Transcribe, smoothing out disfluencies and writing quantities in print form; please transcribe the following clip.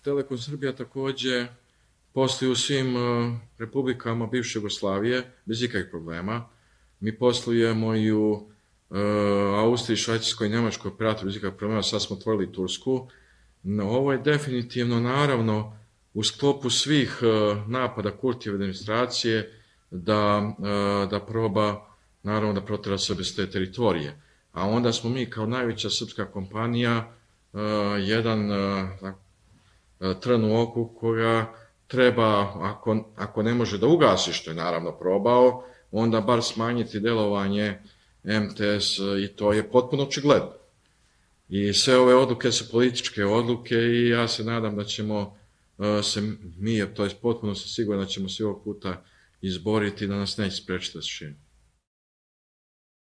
Telekom Srbija također posluje u svim republikama bivše Jugoslavije bez ikakvih problema. Mi poslujemo i u Austriji, Švajcarskoj i Njemačkoj operatoru bez ikakvih problema, sad smo otvorili Tursku. No, ovo je definitivno, naravno, u sklopu svih napada Kurtijeve administracije da proba, naravno, da protera Srbe s te teritorije. A onda smo mi kao najveća srpska kompanija jedan trn u oku koja treba, ako ne može da ugasi, što je naravno probao, onda bar smanjiti delovanje MTS i to je potpuno očigledno. I sve ove odluke su političke odluke i ja se nadam da ćemo se mi, to je potpuno se sigurno da ćemo se ovog puta izboriti da nas neće sprečiti da se širimo.